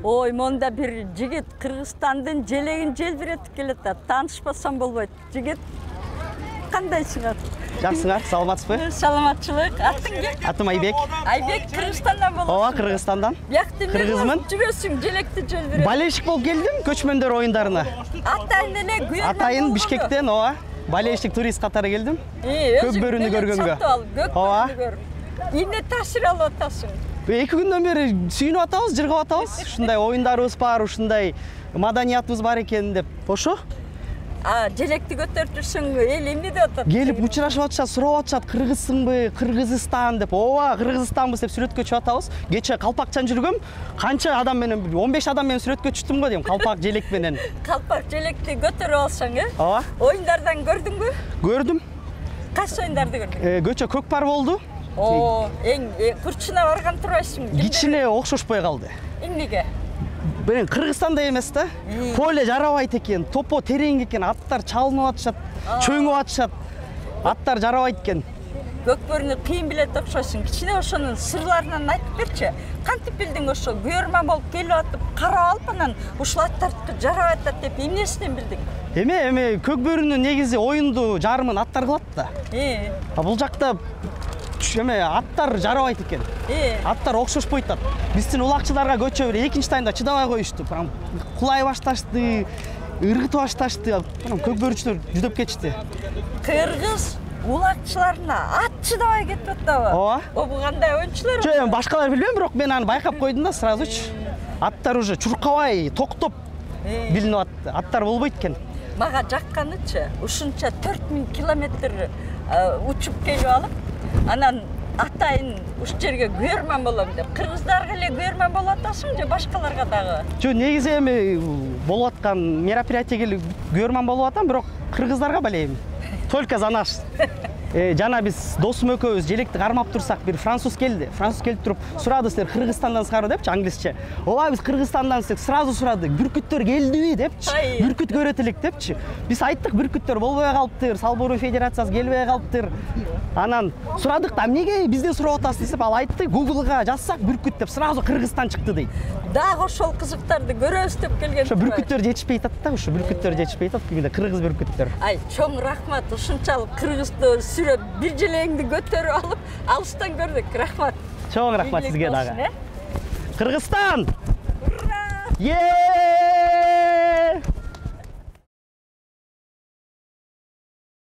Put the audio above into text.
Ой, монда бир жигит Кыргызстандын желегин желбиретип келет да, таанышпасам болбойт. Жигит кандайсыңар? Жакшысыңар, саламатсызбы? Саламатчылык. Атың ким? Атым Айбек. Айбек Кыргызстандан болосуң. Ооба, Кыргызстандан. Бияқты Кыргызмын. Жүрөсүң, желекти желбиретип. Болельщик болуп келдим көчмөндөр оюндарына. Атайын эле күйөрмөн. Атайын Бишкектен, ооба. Болельщик турист катары келдим. Көк бөрүнү көргөнгө. Ооба. Эмне таасир алып атасың? 2 күндөн бери сүйүнүп атабыз, жыргап атабыз. Ушундай оюндарыбыз бар, ушундай маданиятыбыз бар экен деп. Ошо. Желекти көтөрүп жүрсөң, эл эмне деп атат? Келип учурашып атышат, сурап атышат, кыргызсыңбы, Кыргызстан деп. Ооба, Кыргызстанбыз деп сүрөткө чыгып атабыз. Кече калпакчан жүргөм, канча адам менен, 15 адам менен сүрөткө түштүм го дейм, калпак желек менен. Калпак желекти көтөрүп алсаң, Ооба. Оюндардан көрдүңбү? Көрдүм. Кайсы оюндарды көрдүң? Көчө көкпар болду. Эң курчуна барган турбайсың. Кичине окшошпой калды. Эмнеге? Мен Кыргызстанда эмес да. Поле жарабайт экен, топо терең экен, аттар чалынып атышат, чөңүп атышат. Аттар жарабайт экен. Көкбөрүнү кыйын билет окшойсуң. Кичине ошонун сырларынан айтып берчи. Кантип билдиң ошо? Күйөрмөн болуп келип атып, карап алып анан ушул аттарды жарабайт атат деп эмнесинен билдиң? Эме көкбөрүнүн негизи оюнду жарымын аттар кылат да. Бул жакта аттар жарабайт экен. Аттар окшошпойт атат. Биздин улакчыларга көчө бир экинчи таймда чыдабай коюшту. Прям кулай башташты, ыргытып башташты. Көкбөрүчүлөр жүдөп кетишти. Кыргыз улакчыларына ат чыдабай кетип атабы? Ооба. Бул кандай оюнчулар? Жок, башкалар билбейм, бирок мен аны байкап койдум да сразучу. Аттар уже чуркабай, токтоп билинип атты. Аттар болбойт экен. Мага жакканычы, ушунча 4000 километр учуп келип алып, анан атайын уш жерге күйөрмөн болом деп. Кыргыздарга эле күйөрмөн болуп атасың же башкаларга дагы? Жок, негизи эми болуп аткан мероприятиеге күйөрмөн болуп атам, бирок кыргыздарга балейм. Только за наш. Жана биз досум экөөбүз желекти кармап турсак, бир француз келди. Француз келип туруп сурады, силер Кыргызстандансыңарбы депчи, англисче. Ооба, биз Кыргызстанданбыз деп сразу сурады. Бүркүттөр келдиби депчи. Бүркүт көрөт элек депчи. Биз айттык, бүркүттөр болбой калыптыр, Салбуруу федерациясы келбей калыптыр. Анан сурадык да, эмнеге бизден сурап атасыз деп, ал айтты, Google'га жазсак бүркүт деп сразу Кыргызстан чыкты дейт. Дагы ошол кызыктарды көрөбүз деп келген. Ошо бүркүттөр жетишпей атат да, ошо бүркүттөр жетишпей атат, кимде кыргыз бүркүттөр. Ай, чоң рахмат, ушунчалык кыргызды сүрөп, бир желеңди көтөрүп алып, алыстан көрдүк. Рахмат. Чоң рахмат сизге дагы. Кыргызстан! Ура!